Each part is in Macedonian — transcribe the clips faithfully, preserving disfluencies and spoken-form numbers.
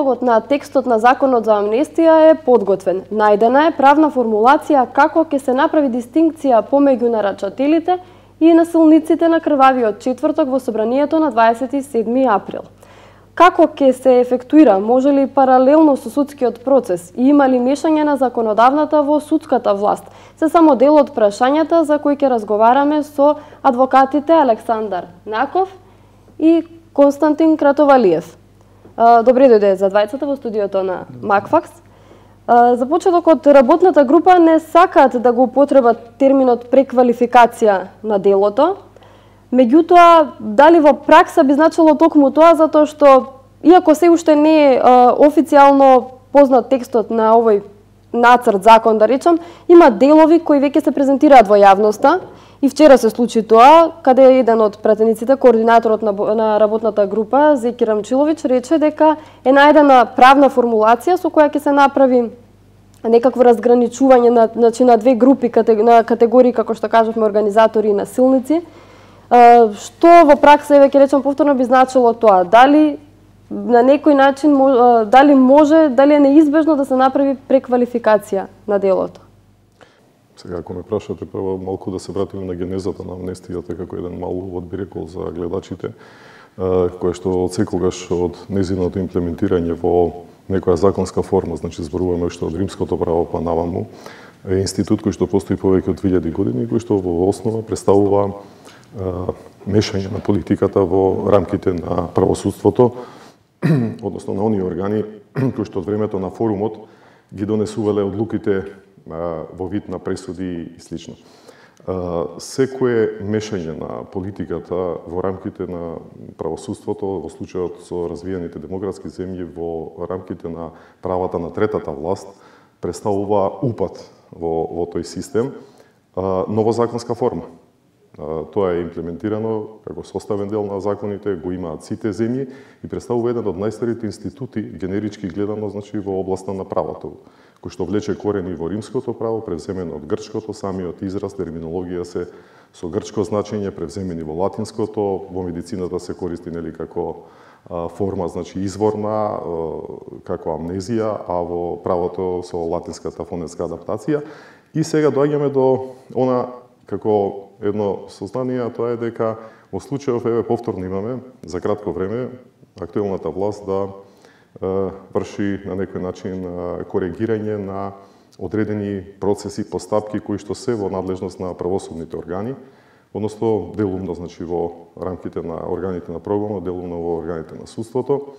Предлогот на текстот на Законот за амнестија е подготвен. Најдена е правна формулација како ќе се направи дистинкција помеѓу нарачателите и насилниците на крвавиот четврток во собранието на дваесет и седми април. Како ќе се ефектуира, може ли паралелно со судскиот процес и има ли мешање на законодавната во судската власт? Се само дел од прашањата за кои ќе разговараме со адвокатите Александар Наков и Константин Кратовалиев. Добре дојде за двајцата во студиото на Макфакс. За почеток, од работната група не сакаат да го употребат терминот преквалификација на делото. Меѓутоа, дали во пракса би значило токму тоа, затоа што, иако се уште не е официјално познат текстот на овој нацрт закон, да речам, има делови кои веќе се презентираат во јавноста. И вчера се случи тоа, каде еден од пратениците, координаторот на, на работната група, Зеки Рамчиловиќ, рече дека е најдена правна формулација со која ќе се направи некакво разграничување на, значи, на две групи, на категории, како што кажавме, организатори и насилници. Што во пракса, веќе речам повторно, би значило тоа? Дали на некој начин, дали може, дали е неизбежно да се направи преквалификација на делото? Сега, ако ме прашате, прво малку да се вратиме на генезата на амнестијата, како еден мал увод би рекол за гледачите, кое што од секогаш од незиното имплементирање во некоја законска форма, значи зборуваме уште од римското право па наваму, е институт кој што постои повеќе од две илјади години и кој што во основа представува мешање на политиката во рамките на правосудството, односно на оние органи кои што од времето на форумот ги донесувале одлуките во вид на пресуди и слично. Секое мешање на политиката во рамките на правосудството, во случајот со развиените демократски земји, во рамките на правата на третата власт, представува упад во, во тој систем, но во законска форма. Тоа е имплементирано како составен дел на законите, го имаат сите земји и представува еден од најстарите институти, генерички гледано, значи во областа на правото, кој што влече корени во римското право, превземено од грчкото, самиот израз, терминологија се со грчко значење, превземени во латинското, во медицината се користи нели како форма, значи изворна, како амнезија, а во правото со латинската фонетска адаптација. И сега доаѓаме до она како едно сознание, а тоа е дека во случајов, еве повторно имаме, за кратко време, актуелната власт да е, врши на некој начин е, коригирање на одредени процеси, постапки кои што се во надлежност на правосудните органи, односно делумно, значи во рамките на органите на прогонот, делумно во органите на судството.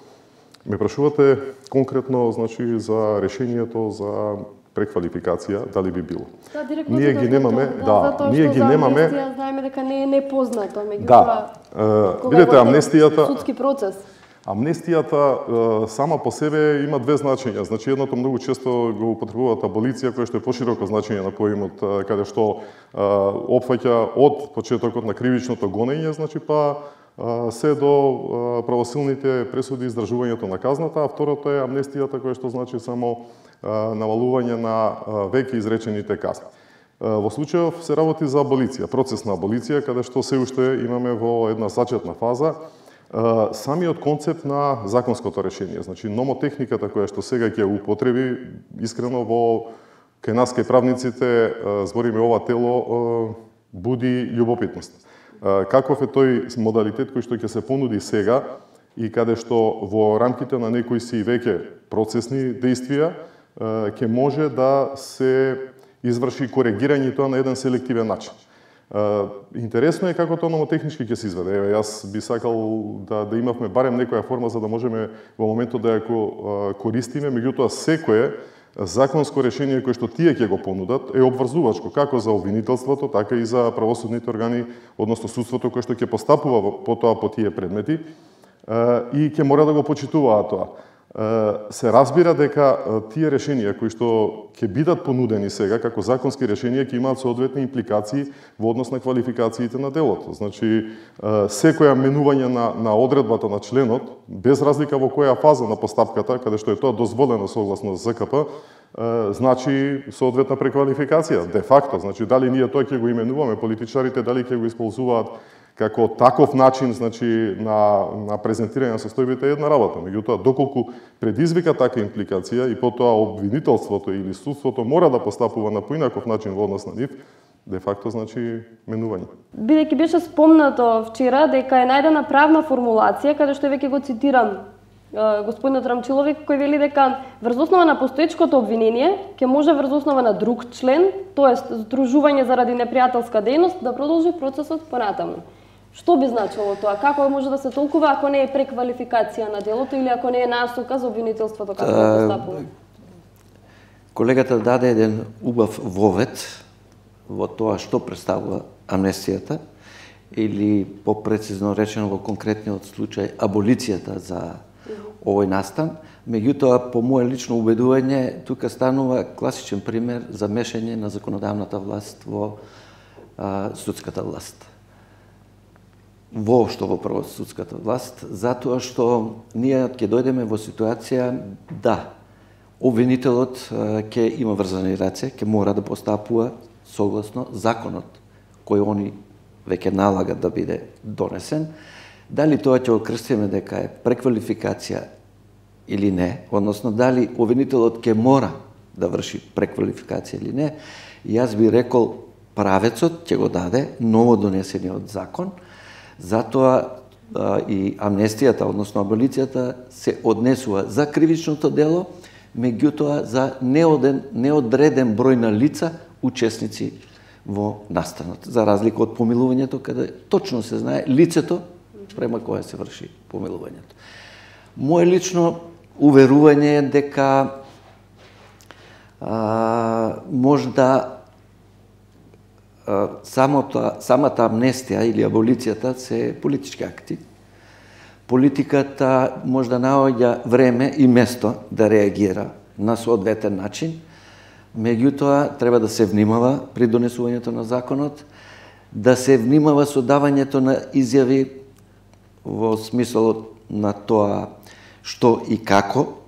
Ме прашувате конкретно, значи, за решението за преквалификација, дали би било. Да, ние ги немаме, да, да ние ги немаме. Амнестија знаеме дека не е непознато, меѓутоа. Да. Видете, амнестијата судски процес. Амнестијата сама по себе има две значења. Значи едното многу често го употребуваат аболиција, која што е пошироко значење на поимот, каде што опфаќа од почетокот на кривичното гонење, значи па се до правосилните пресуди и издржувањето на казната, а второто е амнестијата, која што значи само намалување на веќе изречените казни. Во случајов се работи за аболиција, процес на аболиција, каде што се уште имаме во една зачетна фаза самиот концепт на законското решение. Значи, номотехниката која што сега ќе употреби, искрено во кај нас, кај правниците, збориме ова тело, буди љубопитност. Каков е тој модалитет кој што ќе се понуди сега и каде што во рамките на некои си веќе процесни действија ќе може да се изврши коригирање тоа на еден селективен начин. Интересно е како тоа номотехнички ќе се изведе. Еве, јас би сакал да, да имавме барем некоја форма за да можеме во моментот да ја користиме, меѓутоа секое законско решение кое што тие ќе го понудат е обврзувачко како за обвинителството, така и за правосудните органи, односно судството кое што ќе постапува по тоа по тие предмети и ќе мора да го почитуваат тоа. Се разбира дека тие решенија кои што ќе бидат понудени сега како законски решенија ќе имаат соодветни импликации во однос на квалификациите на делото. Значи, секоја менување на, на одредбата на членот, без разлика во која фаза на постапката, каде што е тоа дозволено согласно ЗКП, значи соодветна преквалификација, де факто. Значи, дали ние тоа ќе го именуваме, политичарите, дали ќе го исползуваат како таков начин, значи, на, на презентирање на состојбите е една работа. Меѓутоа, доколку предизвика така импликација и потоа обвинителството или судството мора да постапува на поинаков начин во однос на нив, де факто значи менување. Бидејќи беше спомнато вчера дека е најдена правна формулација, каде што веќе го цитирам господинот Рамчиловик, кој вели дека врз основа на постоечкото обвинение ќе може врз основа на друг член, тоест здружување заради непријателска дејност, да продолжи процесот понатаму. Што би значило тоа? Како може да се толкува ако не е преквалификација на делото или ако не е насока за обвинителството како да постапува? Колегата даде еден убав вовед во тоа што представува амнестијата или попрецизно речено во конкретниот случај аболицијата за овој настан. Меѓутоа, по моје лично убедување, тука станува класичен пример за мешање на законодавната власт во а, судската власт. Воопшто во правосудската власт, затоа што ние ќе дојдеме во ситуација да обвинителот ќе има врзани раце, ќе мора да постапува согласно законот кој они веќе налагат да биде донесен. Дали тоа ќе окрстиме дека е преквалификација или не, односно дали обвинителот ќе мора да врши преквалификација или не, јас би рекол правецот ќе го даде ново донесениот закон, затоа а, и амнестијата, односно аболицијата, се однесува за кривичното дело, меѓутоа за неоден, неодреден број на лица, учесници во настанот, за разлика од помилувањето, каде точно се знае лицето према кое се врши помилувањето. Моje лично уверување е дека а, можда а, самото, самата амнестија или аболицијата се политички акти. Политиката може да наоѓа време и место да реагира на соодветен начин, меѓутоа треба да се внимава при донесувањето на законот, да се внимава со давањето на изјави во смисолот на тоа што и како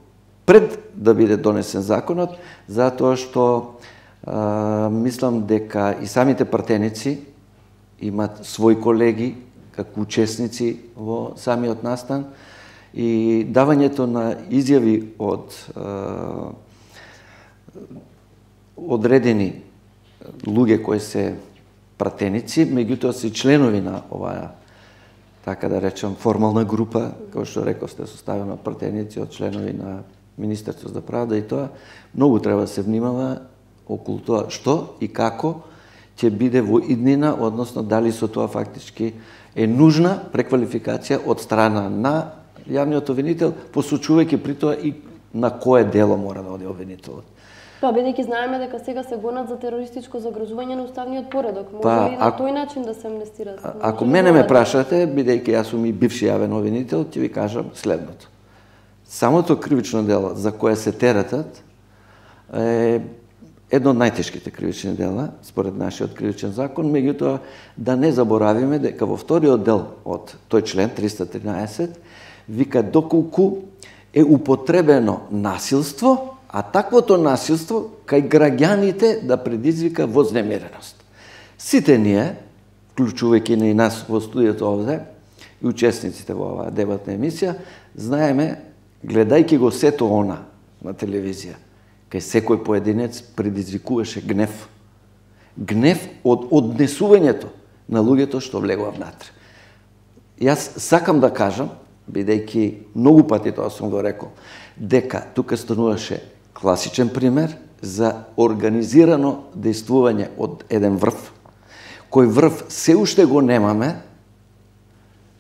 пред да биде донесен законот, затоа што а, мислам дека и самите пратеници имат своји колеги како учесници во самиот настан и давањето на изјави од а, одредени луѓе кои се пратеници, меѓутоа се членови на оваа, така да речем, формална група, како што рековте, составена од пратеници, од членови на Министерството за правда и тоа, многу треба да се внимава околу тоа што и како ќе биде во иднина, односно дали со тоа фактички е нужна преквалификација од страна на јавниот обвинител, посочувајќи при тоа и на кое дело мора да оди обвинителот. Па, бидејќи знаеме дека сега се гонат за терористичко загрозување на уставниот поредок, може па, ли на тој начин да се амнестира? А, ако мене ме прашате, бидејќи јас сум и бивши јавен обвинител, ќе ви кажам следното. Самото кривично дело за кое се теретат е едно од најтешките кривични дела, според нашиот кривичен закон, меѓутоа да не заборавиме дека во вториот дел од тој член триста тринаесет вика доколку е употребено насилство, а таквото насилство кај граѓаните да предизвика вознемиреност. Сите ние, вклучувајќи и нас во студиото овде и учесниците во оваа дебатна емисија, знаеме, гледајќи го сето она на телевизија, кај секој поединец предизвикуваше гнев. Гнев од однесувањето на луѓето што влегува внатре. Јас сакам да кажам, бидејќи многу пати тоа сум го рекол, дека тука стануваше класичен пример за организирано дејствување од еден врв, кој врв се уште го немаме,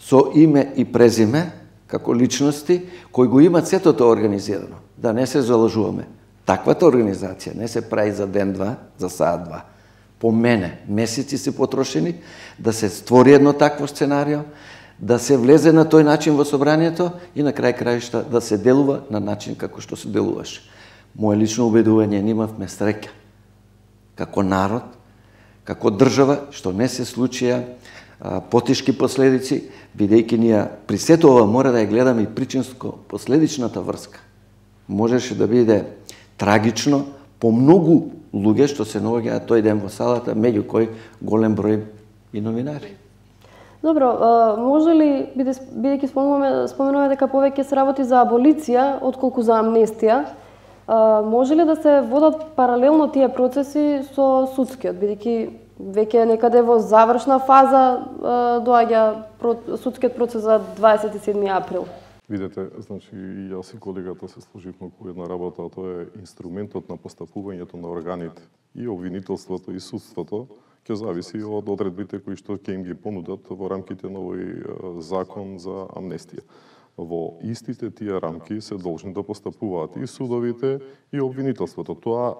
со име и презиме, како личности, кои го имат сето тоа организирано. Да не се залажуваме. Таквата организација не се прави за ден-два, за саат-два. По мене, месеци се потрошени да се створи едно такво сценарио, да се влезе на тој начин во собранието и на крај краишта да се делува на начин како што се делуваше. Моje лично убедување, имавме среќа како народ, како држава, што не се случија а, потешки последици, бидејќи ние при сето ова мора да ја гледаме и причинско-последичната врска. Можеше да биде трагично по многу луѓе што се наоѓаат тој ден во салата, меѓу кои голем број и новинари. Добро, може ли, бидејќи споменуваме, споменуваме дека повеќе се работи за аболиција отколку за амнестија, може ли да се водат паралелно тие процеси со судскиот, бидејќи веќе некаде во завршна фаза доаѓа судскиот процес за дваесет и седми април? Видете, значи и јас и колегата се сложивме околу една работа, а тоа е инструментот на постапувањето на органите, и обвинителството и судството ќе зависи од одредбите кои што ќе им ги понудат во рамките на овој закон за амнестија. Во истите тие рамки се должни да постапуваат и судовите и обвинителството. Тоа е,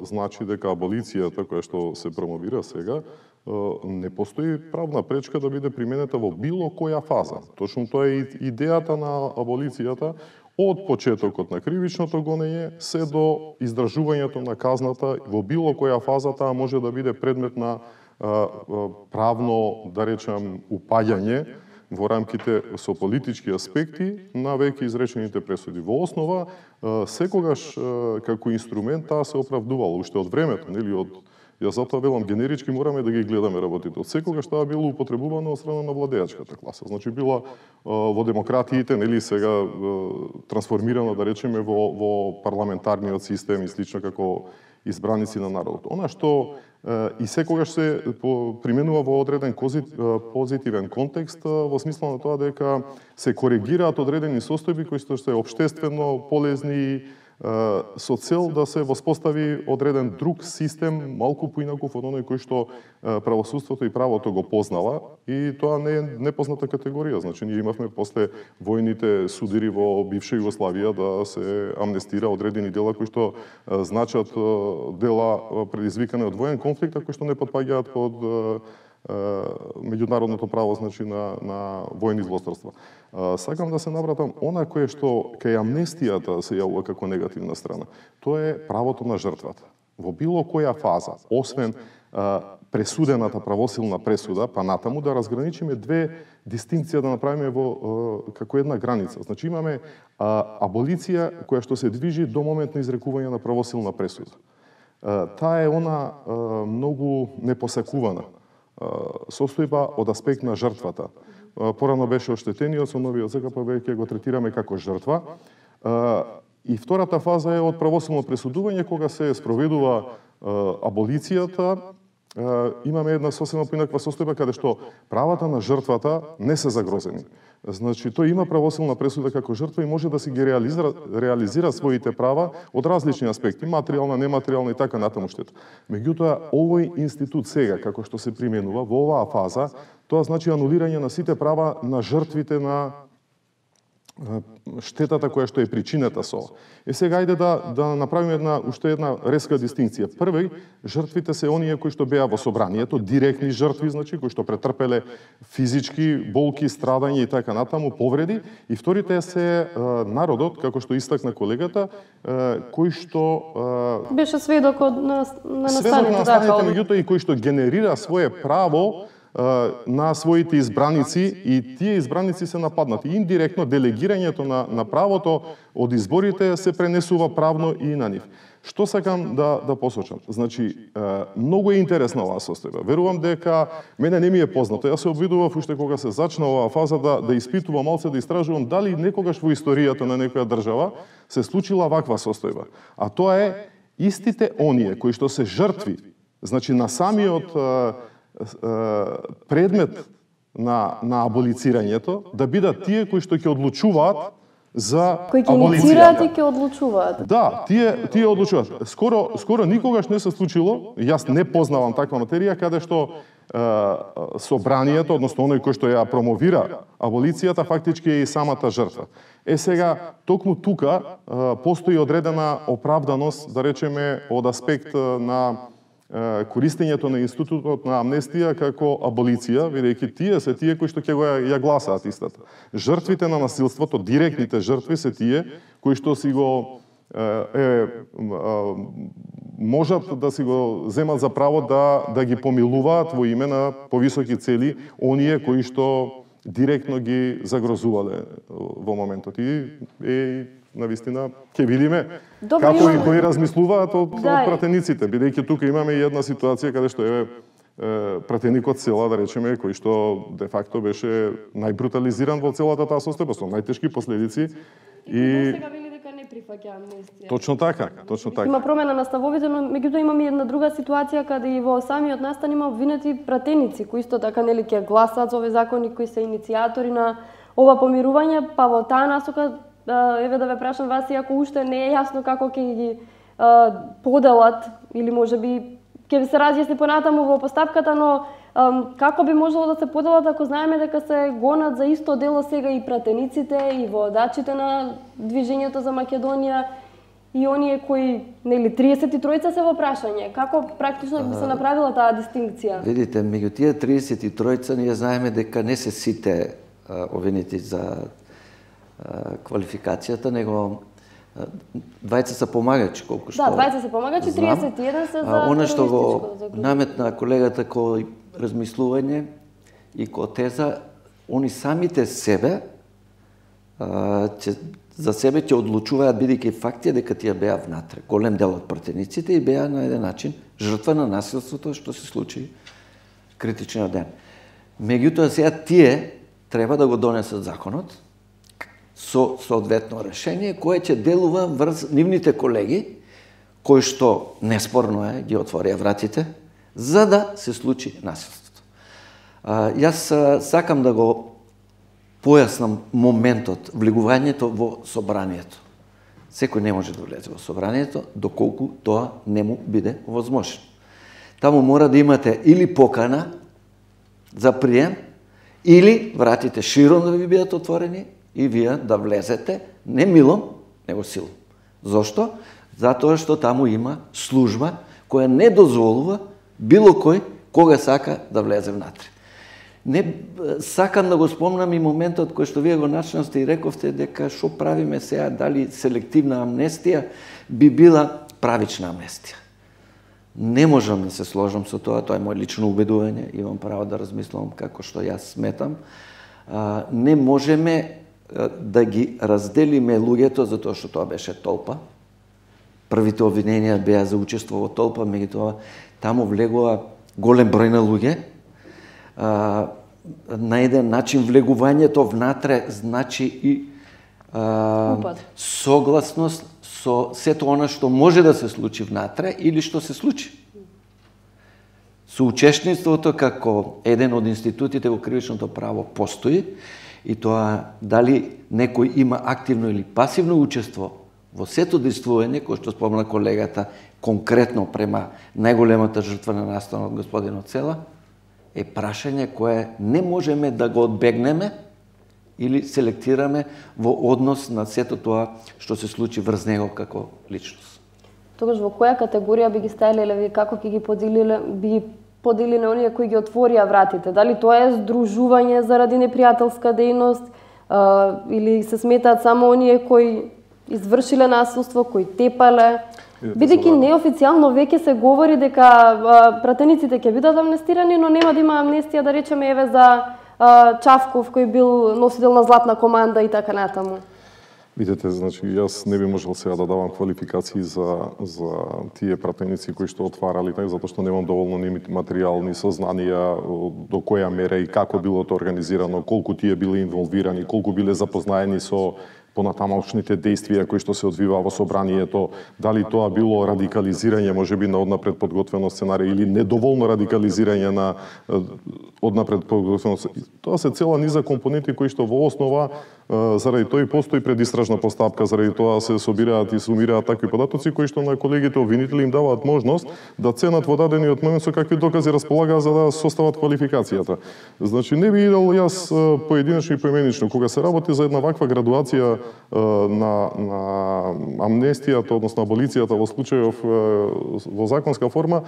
значи дека аболицијата која што се промовира сега, е, не постои правна пречка да биде применета во било која фаза. Точно тоа е идејата на аболицијата, од почетокот на кривичното гонење се до издржувањето на казната. Во било која фаза таа може да биде предмет на а, правно, да речам, упаѓање во рамките со политички аспекти на веќе изречените пресуди. Во основа, секогаш како инструмент таа се оправдувала уште од времето, нели, од Јас затоа велам, генерички мораме да ги гледаме работите. Од секогаш тоа било употребувано од страна на владеачката класа. Значи била во демократиите, нели, сега трансформирано, да речеме, во, во парламентарниот систем и слично како избраници на народот. Она што и секогаш се применува во одреден позитивен контекст, во смисла на тоа дека се коригираат одредени состојби кои што се општествено полезни, со цел да се воспостави одреден друг систем, малку поинаков од оној кој што правосудството и правото го познава, и тоа не е непозната категорија. Значи, ние имавме после војните судири во бивша Југославија да се амнестира одредени дела кои што значат дела предизвикани од воен конфликт, а кои што не потпаѓаат под меѓународното право, значи на, на војни злосторства. Сакам да се навратам она кое што кај амнестијата се јавува како негативна страна. Тоа е правото на жртвата. Во било која фаза, освен а, пресудената правосилна пресуда, па натаму да разграничиме две дистинкција да направиме во а, како една граница. Значи имаме а, аболиција која што се движи до момент на изрекување на правосилна пресуда. А, таа е она а, многу непосакувана состојба од аспект на жртвата. Порано беше оштетениот, со новиот закон па веќе го третираме како жртва. И втората фаза е од правосилно пресудување, кога се спроведува аболицијата. Имаме една сосема поинаква состојба каде што правата на жртвата не се загрозени. Значи, тој има правосилна пресуда како жртва и може да си ги реализира, реализира своите права од различни аспекти, материјална, нематеријална и така натаму штета. Меѓутоа, овој институт сега, како што се применува во оваа фаза, тоа значи анулирање на сите права на жртвите на штетата која што е причината со. Е сега ајде да да направиме една уште една резка дистинкција. Први, жртвите се оние кои што беа во собранието, директни жртви, значи кои што претрпеле физички болки, страдање и така натаму, повреди, и вторите се е, народот, како што истакна колегата, е, кој што е, беше сведок од на, на настаните, сведок на настаните, да, меѓутоа и кој што генерира свое право на своите избраници, и тие избраници се нападнати. Индиректно делегирањето на, на правото од изборите се пренесува правно и на нив. Што сакам да, да посочам? Значи, многу е интересна оваа состојба. Верувам дека мене не ми е познато. Јас се обидував уште кога се зачна оваа фаза да, да испитувам малце, да истражувам дали некогаш во историјата на некоја држава се случила ваква состојба. А тоа е истите оние кои што се жртви, значи на самиот предмет на, на аболицирањето, да бидат тие кои што ќе одлучуваат за кои ќе инициираат и ќе одлучуваат. Да, тие тие одлучуваат. Скоро скоро никогаш не се случило, јас не познавам таква материја каде што е, собранието, односно оној кој што ја промовира аболицијата, фактички е и самата жртва. Е сега, токму тука е, постои одредена оправданост, да речеме, од аспект на користењето на институтот на амнестија како аболиција, бидејќи тие се тие кои што ќе го ја гласаат истата. Жртвите на насилството, директните жртви се тие кои што си го е, е можат да си го земат за право да да ги помилуваат во име на повисоки цели оние кои што директно ги загрозувале во моментот. И е навистина ќе видиме Добре, како имаме... и кои размислуваат од, да, од пратениците, бидејќи тука имаме и една ситуација каде што е пратеникот села, да речеме, кој што де факто беше најбрутализиран во целата таа состојба, со најтешки последици. И сега вели дека не прифаќа амнестија. Точно така, точно така. Има промена на ставовите, но меѓутоа имаме една друга ситуација каде и во самиот настан има обвинети пратеници кои исто така нели ќе гласаат за овие закони, кои се иницијатори на ова помирување, па во таа насока еве да ве прашам вас, иако уште не е јасно како ќе ги поделат или можеби ќе се разјасни понатаму во постапката, но како би можело да се поделат ако знаеме дека се гонат за исто дело сега и пратениците и водачите на движењето за Македонија и оние кои, нели, триесет и тројца се во прашање. Како практично би се направила таа дистинкција? Видите, меѓу тие триесет и тројца ние знаеме дека не се сите обвинети за квалификацијата, него двајца се помагачи, колку што. Да, двајца се помагачи, триесет и еден се за она што го наметна колегата кој размислување и кој теза, они самите себе ќе за себе ќе одлучуваат бидејќи факти дека тие беа внатре. Голем дел од пратениците и беа на еден начин жртва на насилството што се случи критичниот ден. Меѓутоа сега тие треба да го донесат законот со соодветно решение кое ќе делува врз нивните колеги кои што неспорно е ги отворија вратите за да се случи насилството. А, јас а, сакам да го појаснам моментот, влегувањето во собранието. Секој не може да влезе во собранието доколку тоа не му биде возможно. Таму мора да имате или покана за прием, или вратите широм да ви бидат отворени и вие да влезете не милом, него силом. Зошто? Затоа што таму има служба која не дозволува било кој кога сака да влезе внатре. Не сакам да го спомнам и моментот кој што вие го начнавте и рековте дека што правиме сега, дали селективна амнестија би била правична амнестија. Не можам да се сложам со тоа, тоа е мој лично убедување, имам право да размислам како што јас сметам. А, не можеме да ги разделиме луѓето затоа што тоа беше толпа. Првите обвиненија беа за учество во толпа, меѓутоа таму влегува голем број на луѓе. А, на еден начин влегувањето внатре значи и а, согласност со сето она што може да се случи внатре или што се случи. Соучесниството како еден од институтите во кривичното право постои и тоа дали некој има активно или пасивно учество во сето действување, кој што спомна колегата, конкретно према најголемата жртва на настанот господинот Села, е прашање кое не можеме да го одбегнеме или селектираме во однос на сето тоа што се случи врз него како личност. Тогаш во која категорија би ги ставиле или ви како ќе ги поделиле, би ги поделиле оние кои ги отворија вратите? Дали тоа е здружување заради непријателска дејност а, или се сметаат само оние кои извршиле насилство, кои тепале? Бидејќи неофицијално веќе се говори дека а, пратениците ќе бидат амнестирани, но нема да има амнестија, да речеме, еве за а, Чавков, кој бил носител на златна команда и така натаму. Видете, значи, јас не би можел сега да давам квалификации за, за тие пратеници кои што отварали, так, затоа што немам доволно ни материјал, ни сознанија до која мера и како било тоа организирано, колку тие биле инволвирани, колку биле запознаени со понатамошните действија кои што се одвива во собранието, дали тоа било радикализирање, можеби на однапред подготвено сценарија или недоволно радикализирање на однапред подготвено. Тоа се цела низа компоненти кои што во основа заради тоа и постои предистражна постапка, заради тоа се собираат и сумираат такви податоци кои што на колегите обвинители им даваат можност да ценат во дадениот момент со какви докази располагаат за да состават квалификацијата. Значи не би идел јас поединечно и поименично кога се работи за една ваква градуација на, на амнестијата, односно аболицијата во случајов во законска форма,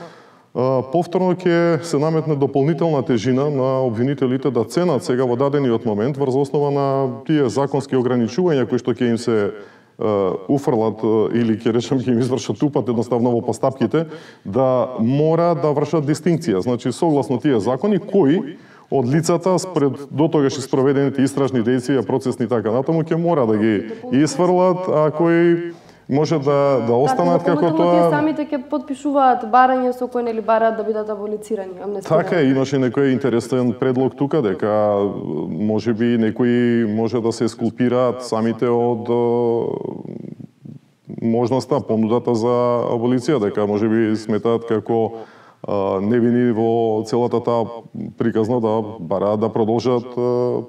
повторно ќе се наметне дополнителна тежина на обвинителите да ценат сега во дадениот момент врз основа на тие законски ограничувања кои што ќе им се уфрлат или ќе речем ќе им извршат упат едноставно во постапките, да мора да вршат дистинкција. Значи согласно тие закони кои од лицата спред дотогаш спроведените истражни действија, процесни така натаму ќе мора да ги исфрлат, а кои може да да останат така, како тоа. Тие самите ќе подпишуваат барање со кои нели бараат да бидат аболицирани, амнестирани. Така е, имаше некој интересен предлог тука дека можеби некои може да се скулпираат самите од можноста, понудата за аболиција, дека можеби сметаат како невини во целата таа приказна да бараат да продолжат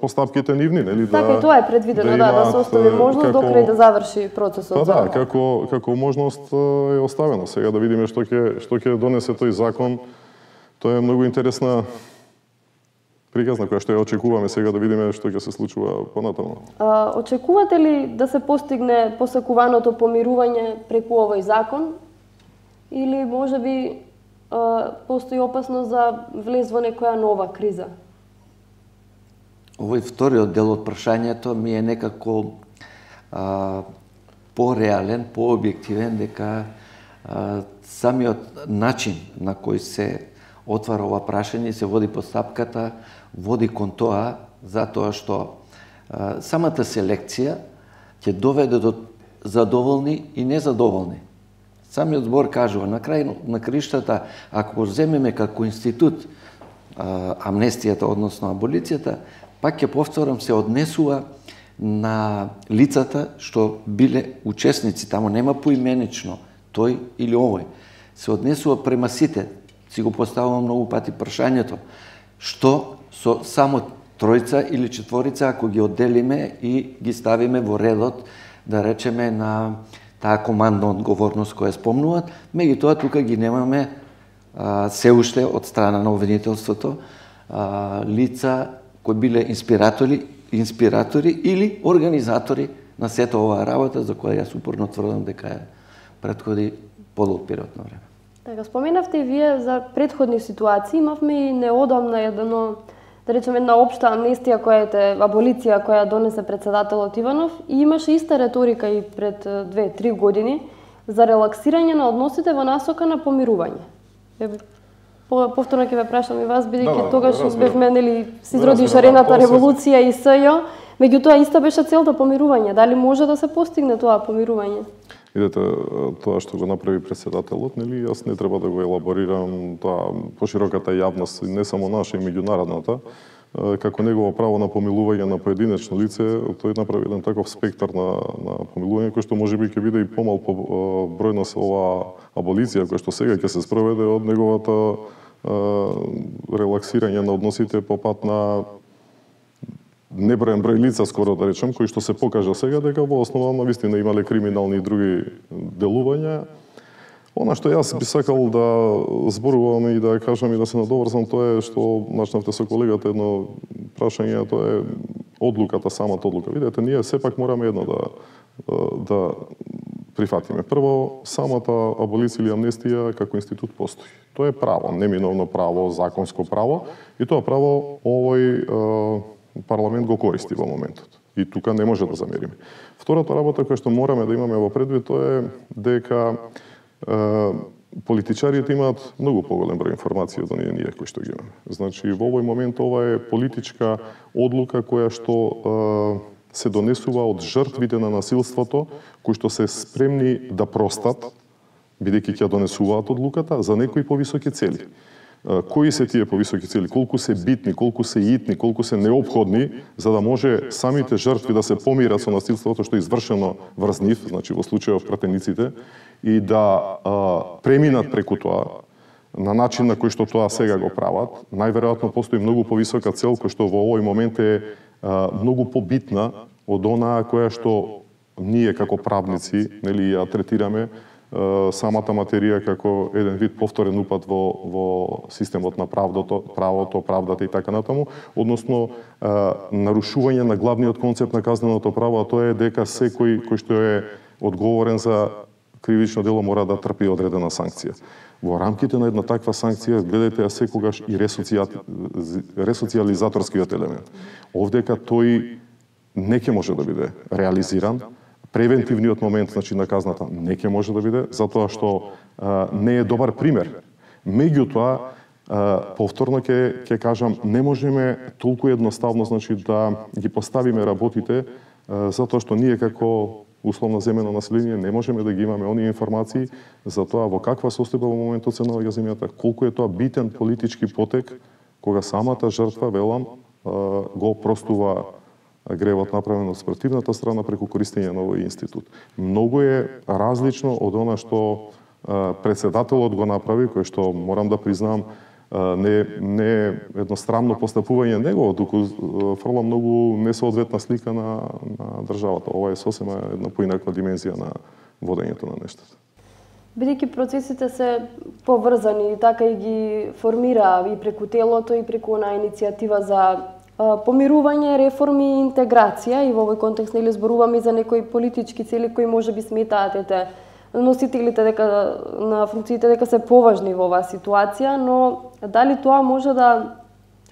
постапките нивни, нели да. Така и тоа е предвидено, да, да се остави можност до крај да заврши процесот. Да, да, како како можност е оставено. Сега да видиме што ќе што ќе донесе тој закон. Тоа е многу интересна приказна која што ја очекуваме сега да видиме што ќе се случува понатаму. А, очекувате ли да се постигне посакуваното помирување преку овој закон или можеби постои опасност за влез во некоја нова криза? Овој вториот дел од прашањето ми е некако а, по-реален, по-објективен, дека а, самиот начин на кој се отвара ова прашање, се води постапката, води кон тоа, затоа што а, самата селекција ќе доведе до задоволни и незадоволни. Самиот збор кажува, на крај на криштата, ако земеме како институт а, амнестијата, односно аболицијата, пак ќе повторам, се однесува на лицата што биле учесници, тамо нема поименично тој или овој. Се однесува према сите. Си го поставувам многу пати прашањето, што со само тројца или четворица, ако ги одделиме и ги ставиме во редот, да речеме, на таа командна одговорност која спомнуваат, меѓутоа тука ги немаме а, се уште од страна на обвинителството а, лица кои биле инспиратори, инспиратори или организатори на сета оваа работа, за која јас упорно тврдам дека е претходи подолг период на време. Така, споменавте и вие за предходни ситуации, имавме и неодамна едно, да речеме, една општа амнестија која е аболиција која донесе председателот Иванов и имаше иста реторика и пред две-три години за релаксирање на односите во насока на помирување. Повторно ќе ве прашам и вас, бидејќи да, да, тогаш бевме нели се изроди шарената револуција и СЈ, меѓутоа иста беше целта помирување. Дали може да се постигне тоа помирување? Видете, тоа што го направи председателот, нели, јас не треба да го елаборирам тоа пошироката јавност, не само наша, и меѓународната, како негово право на помилување на поединечно лице, тој направи еден таков спектар на, на помилување, кој што можеби ќе биде и помал по бројност ова аболиција, која што сега ќе се спроведе од неговата е, релаксирање на односите по пат на неброен број лица, скоро да речем, кои што се покажа сега дека во основа на вистина имале криминални и други делувања. Она што јас би сакал да зборувам и да кажам и да се надоврзам, тоа е што начнавте со колегата едно прашање, тоа е одлуката, самата одлука. Видете, ние сепак мораме едно да да прифатиме. Прво, самата аболиција или амнестија како институт постои. Тоа е право, неминовно право, законско право, и тоа право овој парламент го користи во моментот. И тука не може да замериме. Втората работа која што мораме да имаме во предвид, тоа е дека е, политичарите имаат многу поголем број информации од оние ние кои што ги имаме. Значи, во овој момент ова е политичка одлука која што е, се донесува од жртвите на насилството, кои што се спремни да простат, бидејќи ќе донесуваат одлуката за некои повисоки цели. Кои се тие повисоки цели, колку се битни, колку се итни, колку се неопходни, за да може самите жртви да се помират со насилството што е извршено врз нив, значи во случајот пратениците, и да а, преминат преку тоа на начин на кој што тоа сега го прават. Најверојатно постои многу повисока цел која што во овој момент е а, многу побитна од онаа која што ние како правници, нели, ја третираме самата материја како еден вид повторен упад во, во системот на правдото, правото, правдата и така натаму, односно е, нарушување на главниот концепт на казненото право, а тоа е дека секој кој што е одговорен за кривично дело мора да трпи одредена санкција. Во рамките на една таква санкција, гледате ја секогаш и ресоциализаторскиот елемент. Овдека тој не ќе може да биде реализиран, превентивниот момент, значи, на казната не ќе може да биде, затоа што а, не е добар пример. Меѓутоа, а, повторно ќе ќе кажам, не можеме толку едноставно, значи, да ги поставиме работите, а, затоа што ние како условно земено население, не можеме да ги имаме оние информации за тоа во каква состојба во моментот се наоѓа земјата, колку е тоа битен политички потек кога самата жртва, велам, го простува гревот направен од спротивната страна преку користење на овој институт. Многу е различно од она што председателот го направи, кој што морам да признам не не едностранно постапување негово, туку фрла многу несоодветна слика на на државата. Ова е сосема една поинаква димензија на водењето на нештата. Бидејќи процесите се поврзани, така и ги формира и преку телото и преку на иницијатива за помирување, реформи и интеграција, и во овој контекст нели зборуваме и за некои политички цели кои можеби сметаат ете носителите дека на функциите дека се поважни во оваа ситуација, но дали тоа може да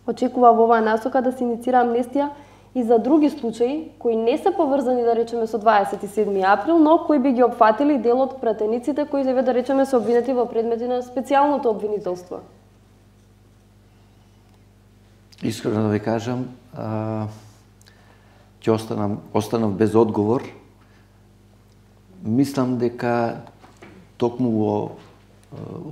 очекува во оваа насока да се иницира амнестија и за други случаи кои не се поврзани, да речеме, со дваесет и седми април, но кои би ги опфатили дел од пратениците кои се, да речеме, се обвинети во предмети на специјалното обвинителство? Искрено да ви кажам, а, ќе останам, останав без одговор. Мислам дека токму во,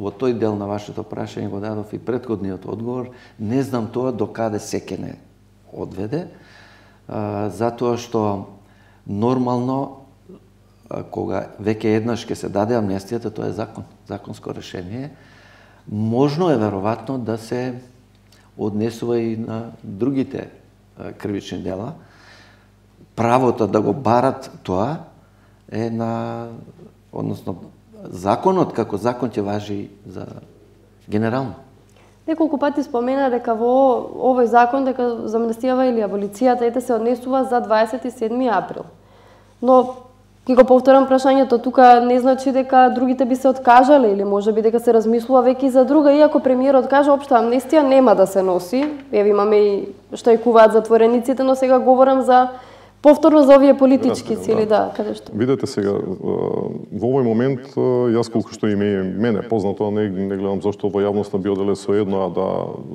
во тој дел на вашето прашање го дадов и претходниот одговор. Не знам тоа до каде се ќе не одведе, а, затоа што нормално, а, кога веќе еднаш ќе се даде амнестијата, тоа е закон, законско решение. Можно е веројатно да се однесува и на другите кривични дела. Правото да го барат тоа е на, односно, законот како закон ќе важи за генерално. Неколку пати спомена дека во овој закон дека за амнестијава или аболицијата ете се однесува за дваесет и седми април. Но ќе го повторам прашањето, тука не значи дека другите би се откажале или можеби дека се размислува веќе за друга, иако премиерот кажа општа амнестија нема да се носи. Еве имаме и штрајкуваат затворениците, но сега говорам за повторно за овие политички цели, да, да, каде што. Видете сега, во овој момент, јас колку што име мене познато, не, не гледам зашто во јавноста би оделе со едно, а да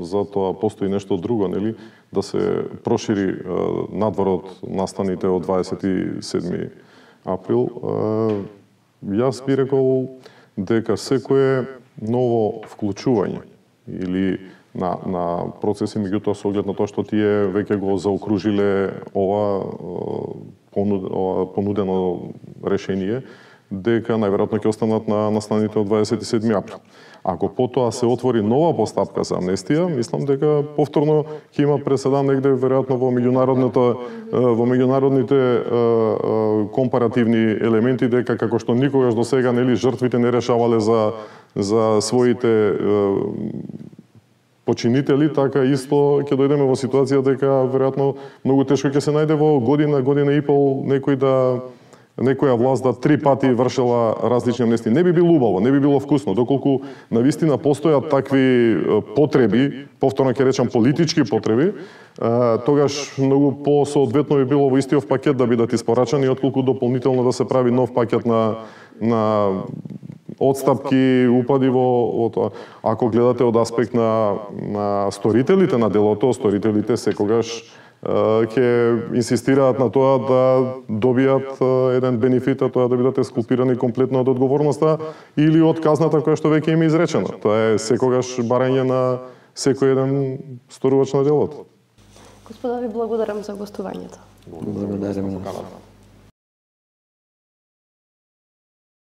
затоа постои нешто друго, нели, да се прошири надвор од настаните од дваесет и седми април. Јас би рекол дека секое ново вклучување или на, на процеси, меѓутоа со оглед на тоа што тие веќе го заокружиле ова, ова понудено решение, дека најверојатно ќе останат на настаните од дваесет и седми април. Ако потоа се отвори нова постапка за амнестија, мислам дека повторно ќе има преседан негде веројатно во меѓународната во меѓународните компаративни елементи, дека како што никогаш до сега нели жртвите не решавале за за своите починители, така исто ќе дојдеме во ситуација дека веројатно многу тешко ќе се најде во година, година и пол некој да некоја власт да три пати вршела различни амнестии. Не би било убаво, не би било вкусно, доколку навистина постојат такви потреби, повторно ќе речам политички потреби, тогаш многу по-соодветно би било во истиот пакет да бидат испорачани, отколку дополнително да се прави нов пакет на на одстапки, упади во, во тоа. Ако гледате од аспект на, на сторителите на делото, сторителите секогаш ќе инсистираат на тоа да добијат еден бенефит, а тоа да бидат ескулпирани комплетно од одговорноста или од казната која што веќе им е изречена. Тоа е секогаш барање на секој еден сторувач на делото. Господа, ви благодарам за гостувањето. Благодарам.